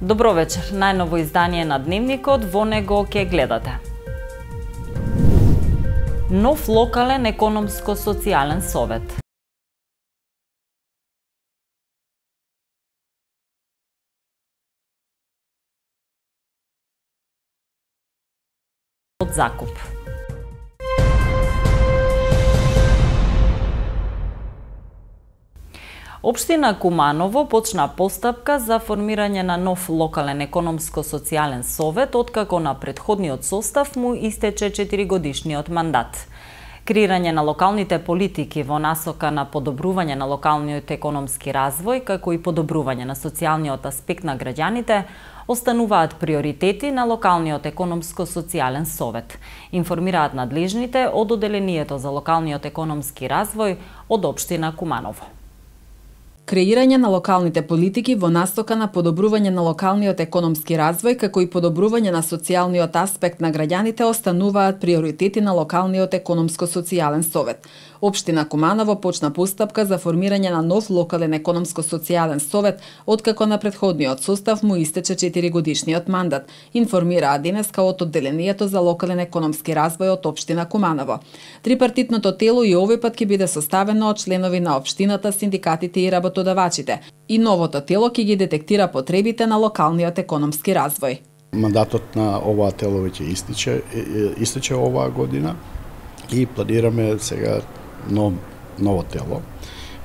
Добро вечер, најново издание на Дневникот, во него ќе гледате. Нов локален економско-социјален совет. Од закуп. Општина Куманово почна постапка за формирање на нов локален економско-социјален совет, откако на претходниот состав му истече 4-годишниот мандат. Креирање на локалните политики во насока на подобрување на локалниот економски развој, како и подобрување на социјалниот аспект на граѓаните, остануваат приоритети на локалниот економско-социјален совет, информираат надлежните од Оделението за локалниот економски развој од општина Куманово. Креирање на локалните политики во настока на подобрување на локалниот економски развој, како и подобрување на социјалниот аспект на граѓаните остануваат приоритети на локалниот економско-социјален совет. Општина Куманово почна постапка за формирање на нов локален економско-социјален совет, откако на претходниот состав му истече 4-годишниот мандат, информираа денеска од Оделението за локален економски развој од општина Куманово. Трипартитното тело и овој пат ќе биде составено од членови на општината, синдикатите и работодавачите, и новото тело ќе ги детектира потребите на локалниот економски развој. Мандатот на оваа тело веќе истече оваа година и планираме сега ново тело,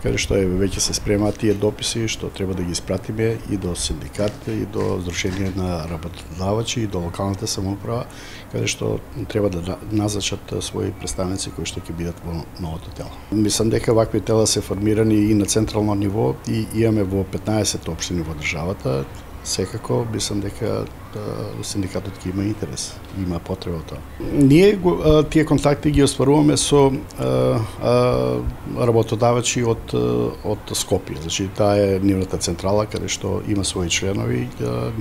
каде што веќе се спремаат тие дописи што треба да ги испратиме и до синдикатите, и до Сдружение на работодавачи, и до локалната самоуправа, каде што треба да назначат своји представници кои што ќе бидат во новото тело. Мислам дека вакви тела се формирани и на централно ниво и имаме во 15 општини во државата. Секако мислам дека синдикатот ќе има интерес, има потреба од тоа. Ние тие контакти ги остваруваме со работодавачи од Скопје. Значи таа е нивната централа каде што има своји членови.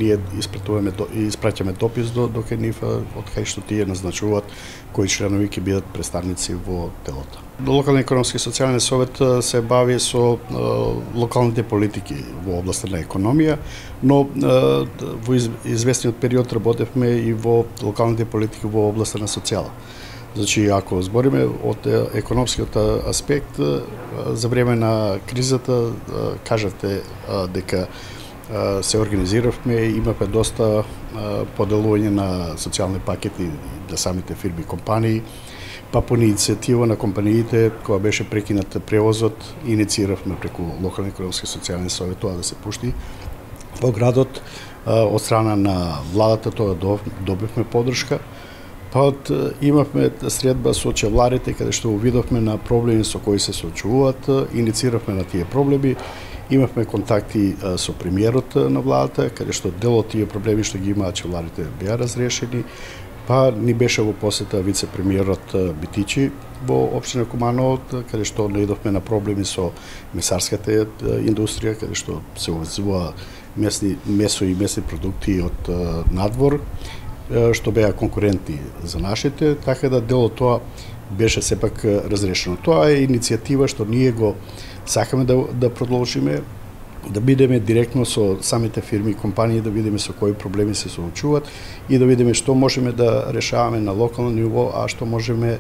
Ние испраќаме допис до кај нив од кај што тие назначуваат кои членови ќе бидат представници во телото. Локален економски и социјален совет се бави со локалните политики во областа на економија, но во известниот период работевме и во локалните политики во областа на социјала. Значи, ако збориме од економскиот аспект, за време на кризата, кажавте дека се организиравме, имавме доста поделување на социјални пакети за самите фирми и компании, па по иницијатива на компаниите, која беше прекинат превозот, иницииравме преку локален економски и социјален совет тоа да се пушти во градот. Од страна на владата тоа добивме поддршка. Па имавме средба со чевларите, каде што увидовме на проблеми со кои се соочувуваат, иницииравме на тие проблеми. Имавме контакти со премиерот на владата, каде што дел од тие проблеми што ги имаат чевларите беа разрешени. Па ни беше во посета вице-премиерот Битичи во општина Куманово, каде што наидовме на проблеми со месарската индустрија, каде што се увезува месо и месни продукти од надвор, што беа конкурентни за нашите, така да дел од тоа беше сепак разрешено. Тоа е иницијатива што ние го сакаме да продолжиме, да бидеме директно со самите фирми и компании, да видиме со кои проблеми се соочуваат и да видиме што можеме да решаваме на локално ниво, а што можеме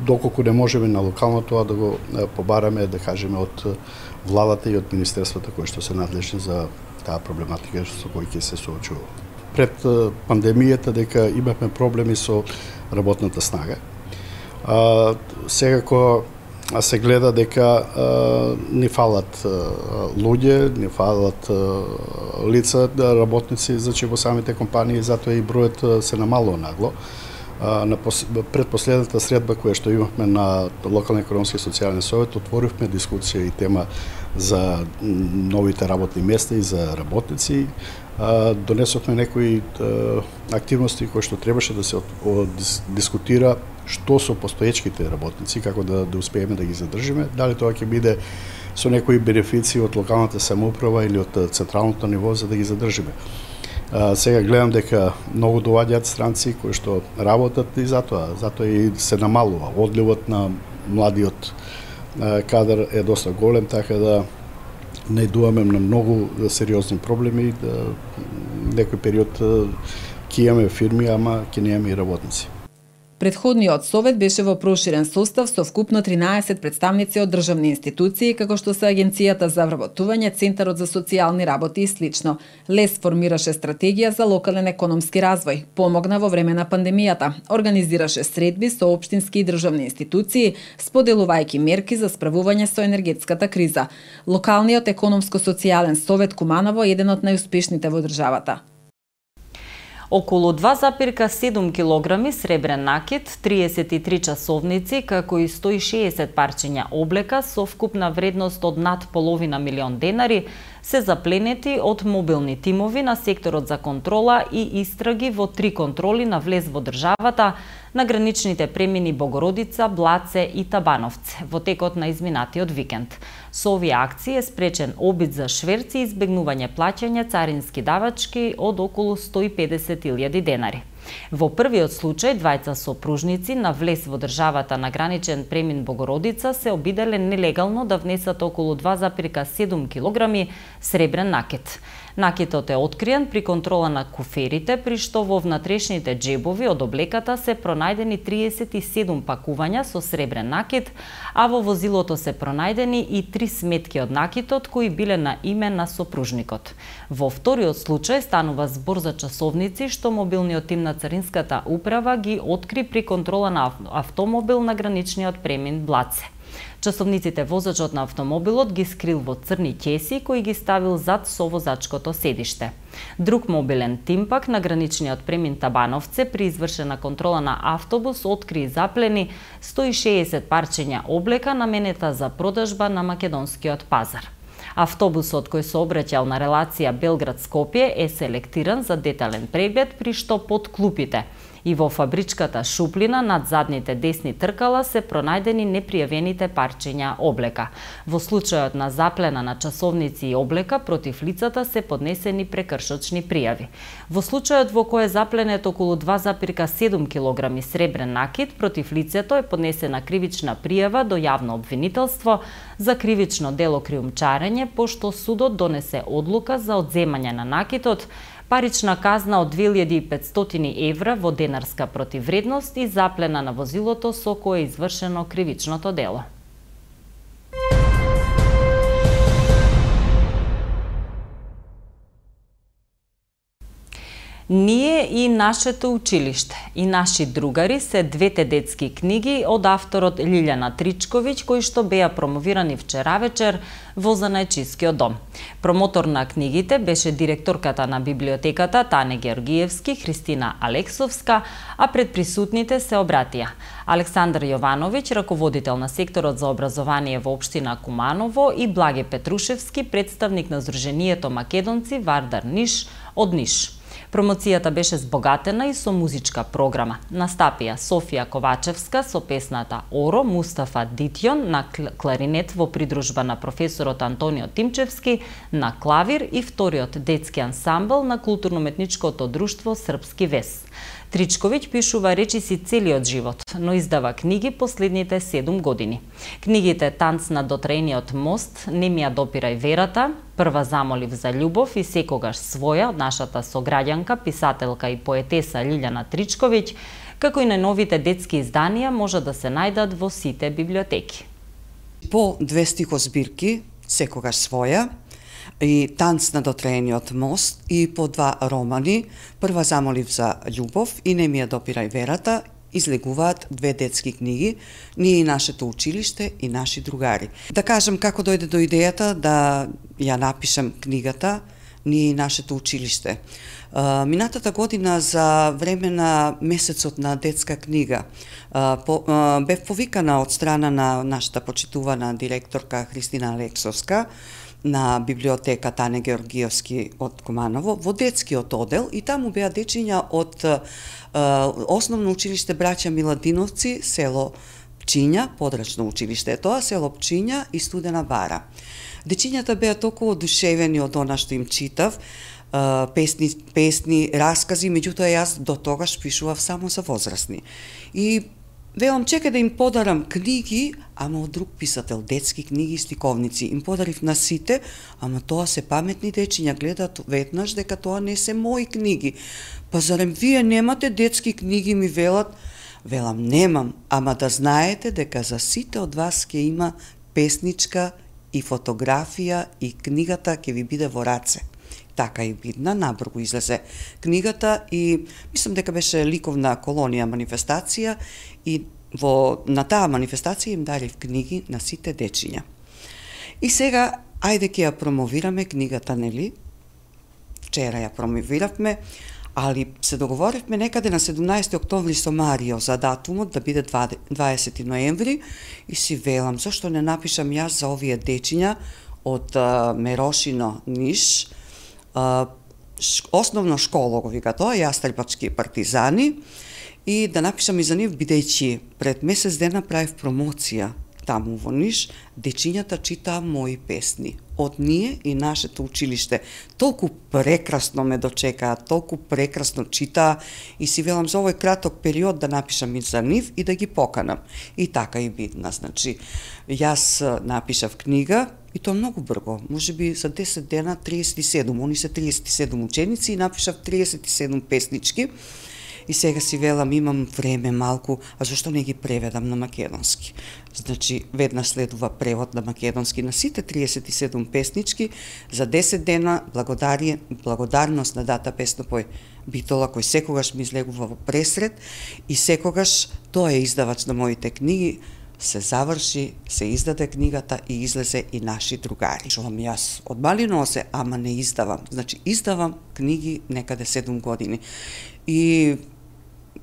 доколку не можеме на локално тоа да го побараме, да кажеме, од владата и од министерствата кои што се надлежни за таа проблематика со кои ќе се соочува. Пред пандемијата дека имавме проблеми со работната снага. Секако се гледа дека не фалат луѓе, не фалат лица, работници, значи во самите компании, затоа и бројот се намалува нагло. На предпоследната средба која што имавме на локален економски и социјален совет, отворивме дискусија и тема за новите работни места и за работници. Донесовме некои активности кои што требаше да се дискутира што со постоечките работници, како да успееме да ги задржиме, дали тоа ќе биде со некои бенефиции од локалната самоуправа или од централното ниво за да ги задржиме. Сега гледам дека многу доаѓаат странци кои што работат и затоа и се намалува. Одливот на младиот кадар е доста голем, така да најдуваме на многу сериозни проблеми, некој период ќе имаме фирми, ама ќе немаме и работници. Предходниот совет беше во проширен состав со вкупно 13 представници од државни институции, како што се Агенцијата за вработување, Центарот за социјални работи и слично. ЛЕС формираше стратегија за локален економски развој, помогна во време на пандемијата, организираше средби со општински и државни институции, споделувајќи мерки за справување со енергетската криза. Локалниот економско-социјален совет Куманово е еден од најуспешните во државата. Околу 2,7 килограми сребрен накит, 33 часовници, како и 160 парчиња облека со вкупна вредност од над половина милион денари се запленети од мобилни тимови на секторот за контрола и истраги во 3 контроли на влез во државата на граничните премини Богородица, Блаце и Табановце во текот на изминатиот викенд. Со овие акции е спречен обид за шверц и избегнување плаќање царински давачки од околу 150.000 денари. Во првиот случај, двајца сопружници на влез во државата на граничен премин Богородица се обиделе нелегално да внесат околу 2,7 килограми сребрен накит. Накитот е откриен при контрола на куферите, при што во внатрешните џебови од облеката се пронајдени 37 пакувања со сребрен накит, а во возилото се пронајдени и 3 сметки од накитот кои биле на име на сопружникот. Во вториот случај станува збор за часовници што мобилниот тим на Царинската управа ги откри при контрола на автомобил на граничниот премин Блаце. Часовниците возачот на автомобилот ги скрил во црни ќеси кои ги ставил зад совозачкото седиште. Друг мобилен тим пак на граничниот премин Табановце при извршена контрола на автобус откри и заплени 160 парчиња облека наменета за продажба на македонскиот пазар. Автобусот кој се обраќал на релација Белград-Скопје е селектиран за детален преглед, при што под клупите и во фабричката шуплина над задните десни тркала се пронајдени непријавените парчиња облека. Во случајот на заплена на часовници и облека против лицата се поднесени прекршочни пријави. Во случајот во кој е запленет околу 2,7 килограми сребрен накит, против лицето е поднесена кривична пријава до јавно обвинителство за кривично дело криумчарење, пошто судот донесе одлука за одземање на накитот, парична казна од 2500 евра во денарска противвредност и заплена на возилото со кое е извршено кривичното дело. Ние и нашето училиште и наши другари се двете детски книги од авторот Лилјана Тричковиќ кои што беа промовирани вчера вечер во Занајчискиот дом. Промотор на книгите беше директорката на библиотеката Тане Георгиевски, Христина Алексовска, а пред присутните се обратија Александар Јовановиќ, раководител на секторот за образование во општина Куманово, и Благе Петрушевски, представник на Сдруженијето Македонци Вардар Ниш од Ниш. Промоцијата беше збогатена и со музичка програма. Настапија Софија Ковачевска со песната Оро, Мустафа Дитјон на кларинет во придружба на професорот Антонио Тимчевски на клавир и вториот детски ансамбл на културно-уметничкото друштво Српски вес. Тричковиќ пишува речиси целиот живот, но издава книги последните 7 години. Книгите Танц на дотрениот мост, Не ми ја допирај верата, Прва замолив за љубов и Секогаш своја од нашата сограѓанка, писателка и поетеса Лилјана Тричковиќ, како и најновите детски изданија може да се најдат во сите библиотеки. По 2 стихозбирки, Секогаш своја, и Танц на дотрениот мост, и по 2 романи, Прва замолив за љубов и Не ми ја допирај верата, излегуваат 2 детски книги, Ние и нашето училиште и наши другари. Да кажам како дојде до идејата да ја напишем книгата Ние и нашето училиште. Минатата година за време на месецот на детска книга бев повикана од страна на нашата почитувана директорка Христина Алексовска на библиотека Тане Георгиевски од Куманово во детскиот одел, и таму беа дечиња од Основно училиште Браќа Миладиновци, село Пчиња, подрачно училиште е тоа, село Пчиња и Студена Бара. Дечињата беа толку одушевени од она што им читав, песни, раскази, меѓутоа јас до тогаш пишував само за возрастни. И велам чекај да им подарам книги, ама од друг писател, детски книги и стиковници. Им подарив на сите, ама тоа се паметни дечиња, гледат веднаш дека тоа не се мои книги. Па зарем вие немате детски книги, ми велат? Велам, немам, ама да знаете дека за сите од вас ќе има песничка и фотографија и книгата ќе ви биде во раце. Така и видна, набрзо излезе книгата и мислам дека беше ликовна колонија манифестација и на таа манифестација им дарив книги на сите дечиња. И сега, ајде ќе ја промовираме книгата, нели? Вчера ја промовиравме, али се договоривме некаде на 17 октомври со Марио за датумот да биде 20 ноември и си велам, зашто не напишам јас за овие дечиња од Мерошино, Ниш, основно школа го вика тоа, Јастребачки партизани, и да напишам и за нив, бидејќи пред месец дена правив промоција таму во Ниш, дечињата читаа мои песни. Од ние и нашето училиште. Толку прекрасно ме дочекаа, толку прекрасно читаа и си велам за овој краток период да напишам и за нив и да ги поканам. И така и бидна. Значи, јас напишав книга и тоа многу брго, можеби за 10 дена 37, они се 37 ученици и напишав 37 песнички. И сега си велам, имам време малку, а зашто не ги преведам на македонски? Значи, веднаш следува превод на македонски на сите 37 песнички, за 10 дена благодарност на Дата Песнопој Битола, кој секогаш ми излегува во пресред и секогаш тоа е издавач на моите книги, се заврши, се издаде книгата и излезе и наши другари. Чувам јас од мали носе, ама не издавам. Значи, издавам книги некаде 7 години. И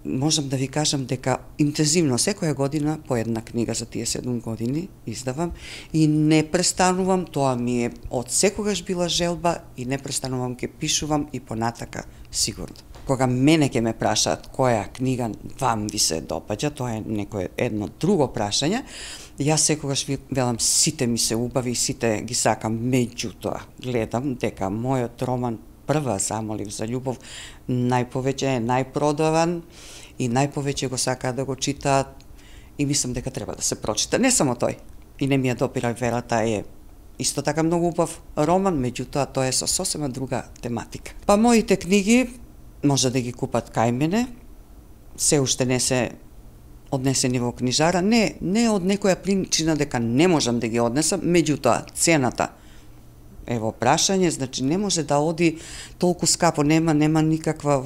можам да ви кажам дека интензивно секоја година по една книга за тие 7 години издавам и не престанувам, тоа ми е од секогаш била желба и не престанувам, ке пишувам и понатака сигурно. Кога мене ќе ме прашаат која книга вам ви се допаѓа, тоа е некое едно друго прашање, јас секогаш велам сите ми се убави и сите ги сакам, меѓутоа гледам дека мојот роман Прва замолив за љубов најповеќе е најпродаван и најповеќе го сакаат да го читаат и мислам дека треба да се прочита. Не само тој. И не ми ја допира верата е исто така многу убав роман, меѓутоа тоа е со сосема друга тематика. Па моите книги може да ги купат кај мене, се уште не се однесени во книжара, не од некоја причина дека не можам да ги однесам, меѓутоа цената ево прашање, значи не може да оди толку скапо, нема никаква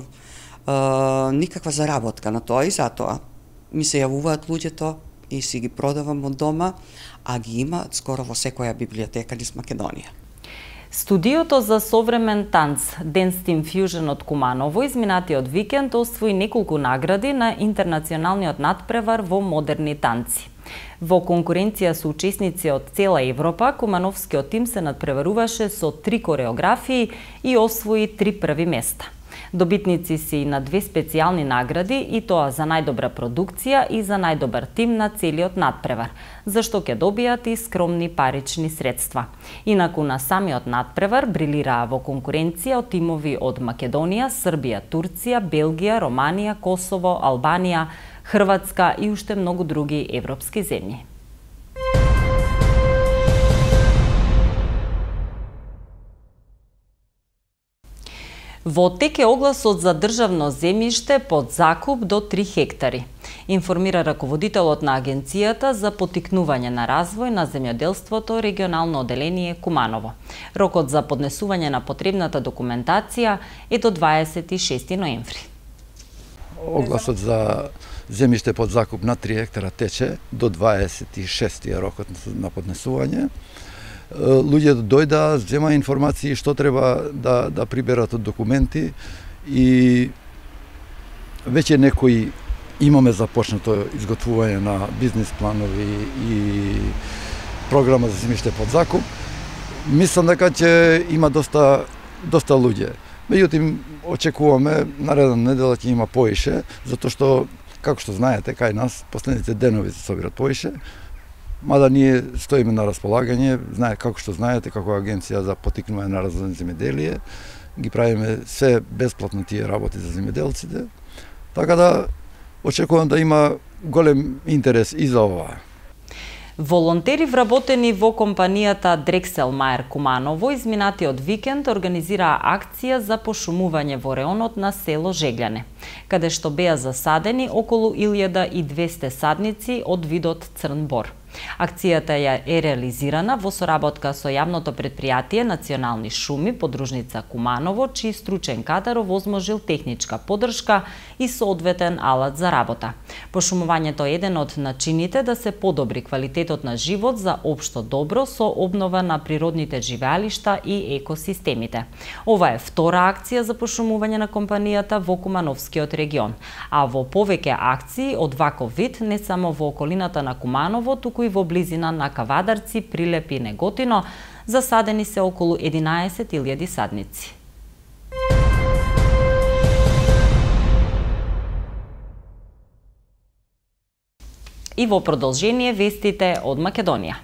заработка на тоа и затоа ми се јавуваат луѓето и си ги продавам од дома, а ги има скоро во секоја библиотека низ Македонија. Студиото за современ танц Dance Team Fusion од Куманово изминатиот викенд освои неколку награди на интернационалниот натпревар во модерни танци. Во конкуренција со учесници од цела Европа, кумановскиот тим се надпреваруваше со 3 кореографии и освои 3 први места. Добитници си на 2 специјални награди, и тоа за најдобра продукција и за најдобар тим на целиот натпревар, за што ќе добијат и скромни парични средства. Инаку на самиот натпревар брилираа во конкуренција од тимови од Македонија, Србија, Турција, Белгија, Романија, Косово, Албанија, Хрватска и уште многу други европски земји. Во тек е огласот за државно земјиште под закуп до 3 хектари, информира раководителот на Агенцијата за поттикнување на развој на земјоделството регионално оделение Куманово. Рокот за поднесување на потребната документација е до 26 ноември. Огласот за земјиште под закуп на 3 хектара тече до 26 рокот на поднесување. Луѓето дојдаа, зема информации што треба да приберат од документи и веќе некои имаме започнато изготвување на бизнис планови и програма за земјиште под закуп. Мислам дека ќе има доста луѓе. Меѓутоа очекуваме наредна недела ќе има поише, затоа што како што знаете кај нас последните денови се собират поише. Мада ние стоиме на располагање, како што знаете, како агенција за поттикнување на развој на земјоделие, ги правиме се бесплатно тие работи за земјоделците. Така да очекувам да има голем интерес и за ова. Волонтери вработени во компанијата Дрексел Мајер Куманово изминатиот викенд организираа акција за пошумување во реонот на село Жегляне, каде што беа засадени околу 1200 садници од видот црн бор. Акцијата ја е реализирана во соработка со јавното предпријатие Национални шуми, подружница Куманово, чиј стручен кадар овозможил техничка поддршка и соодветен алат за работа. Пошумувањето е еден од начините да се подобри квалитетот на живот за општо добро со обнова на природните живеалишта и екосистемите. Ова е втора акција за пошумување на компанијата во Кумановскиот регион, а во повеќе акции од ваков вид не само во околината на Куманово, туку и во близина на Кавадарци, Прилеп и Неготино, засадени се околу 11.000 садници. И во продолжение вестите од Македонија.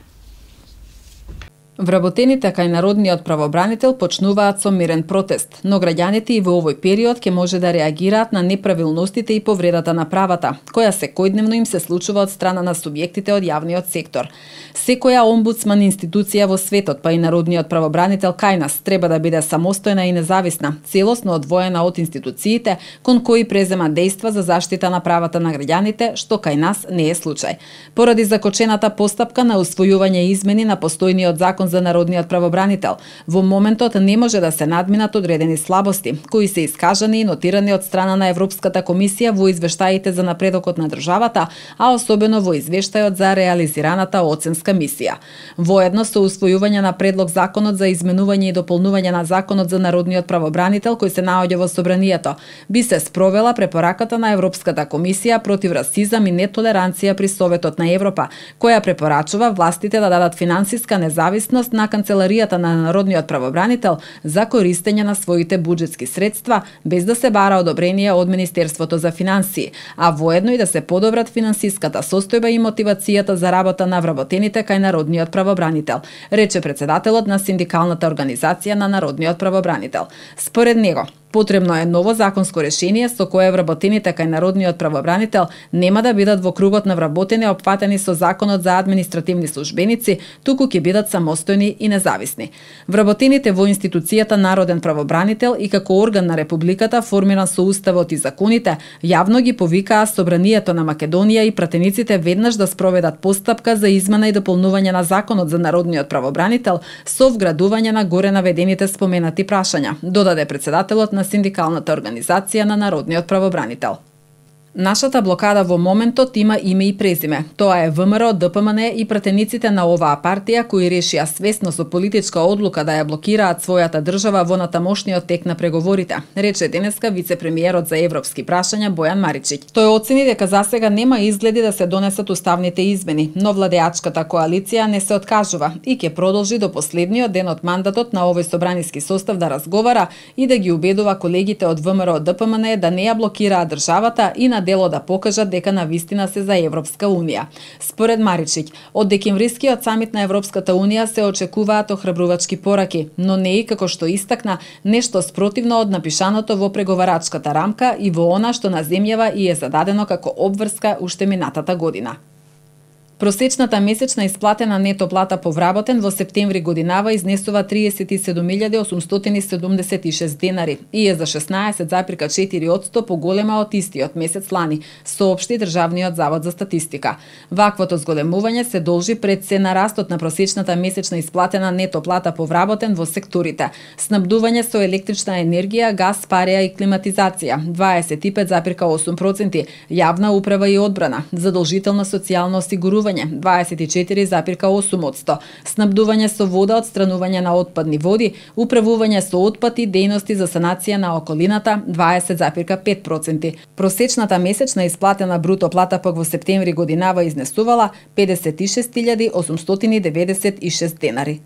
Вработените кај народниот правобранител почнуваат со мирен протест, но граѓаните и во овој период ќе може да реагираат на неправилностите и повредата на правата, која секојдневно им се случува од страна на субјектите од јавниот сектор. Секоја омбудсман институција во светот, па и народниот правобранител кај нас, треба да биде самостојна и независна, целосно одвоена од институциите кон кои презема дејства за заштита на правата на граѓаните, што кај нас не е случај. Поради закочената постапка на усвојување измени на постојниот закон за народниот правобранител, во моментот не може да се надминат одредени слабости, кои се искажани и нотирани од страна на Европската комисија во извештаите за напредокот на државата, а особено во извештајот за реализираната оценска мисија. Воедно со усвојување на предлог законот за изменување и дополнување на законот за народниот правобранител кој се наоѓа во собранието, би се спровела препораката на Европската комисија против расизам и нетолеранција при Советот на Европа, која препорачува властите да дадат финансиска независност на Канцеларијата на народниот правобранител за користење на своите буџетски средства без да се бара одобрение од Министерството за финансии, а воедно и да се подобрат финансиската состојба и мотивацијата за работа на вработените кај народниот правобранител, рече председателот на синдикалната организација на народниот правобранител. Според него, потребно е ново законско решение со кое вработените кај народниот правобранител нема да бидат во кругот на вработени опфатени со законот за административни службеници, туку ќе бидат самостојни и независни. Вработените во институцијата Народен правобранител и како орган на Републиката формиран со уставот и законите, јавно ги повикаа Собранието на Македонија и пратениците веднаш да спроведат постапка за измена и дополнување на законот за народниот правобранител со вградување на горе наведените споменати прашања, додаде председателот на синдикалната организација на народниот правобранител. Нашата блокада во моментот има име и презиме. Тоа е ВМРО, ДПМН и пратениците на оваа партија кои решија свесно со политичка одлука да ја блокираат својата држава во натамошниот тек на преговорите, рече денеска вице-премиерот за европски прашања Бојан Маричиќ. Тој оцени дека засега нема изгледи да се донесат уставните измени, но владеачката коалиција не се откажува и ќе продолжи до последниот ден од мандатот на овој собраниски состав да разговара и да ги убедува колегите од ВМРО, ДПМН да не ја блокираат државата и на дело да покажат дека навистина се за Европска Унија. Според Маричиќ, од декемврискиот самит на Европската Унија се очекуваат охрабрувачки пораки, но не и како што истакна нешто спротивно од напишаното во преговарачката рамка и во она што на земјава и е зададено како обврска уште минатата година. Просечната месечна исплатена нето плата по вработен во септември годинава изнесува 37.876 денари и е за 16,4% поголема од истиот месец лани, соопшти Државниот завод за статистика. Ваквото зголемување се должи пред се на растот на просечната месечна исплатена нето плата по вработен во секторите: снабдување со електрична енергија, газ, пареа и климатизација 25,8%, јавна управа и одбрана, задолжително социјално осигурување 24,8%, снабдување со вода, отстранување на отпадни води, управување со отпад и дејности за санација на околината 20,5%. Просечната месечна исплатена бруто плата пак во септември годинава изнесувала 56.896 денари.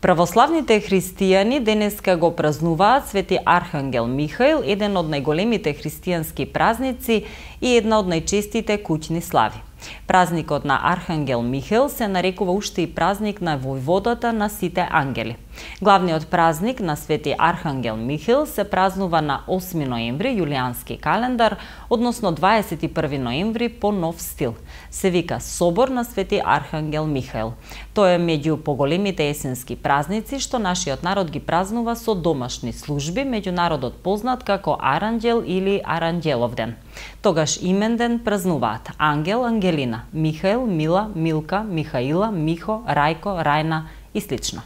Православните христијани денеска го празнуваат Свети Архангел Михаил, еден од најголемите христијански празници и една од најчестите куќни слави. Празникот на Архангел Михаел се нарекува уште и празник на војводата на сите ангели. Главниот празник на Свети Архангел Михаел се празнува на 8 ноември јулијански календар, односно 21 ноември по нов стил. Се вика Собор на Свети Архангел Михаел. Тој е меѓу поголемите есенски празници што нашиот народ ги празнува со домашни служби, меѓу народот познат како Аранđел или Аранđелов ден. Тогаш именден празнуваат Ангел, Ангелина, Михаел, Мила, Милка, Михаила, Михо, Рајко, Рајна и слично.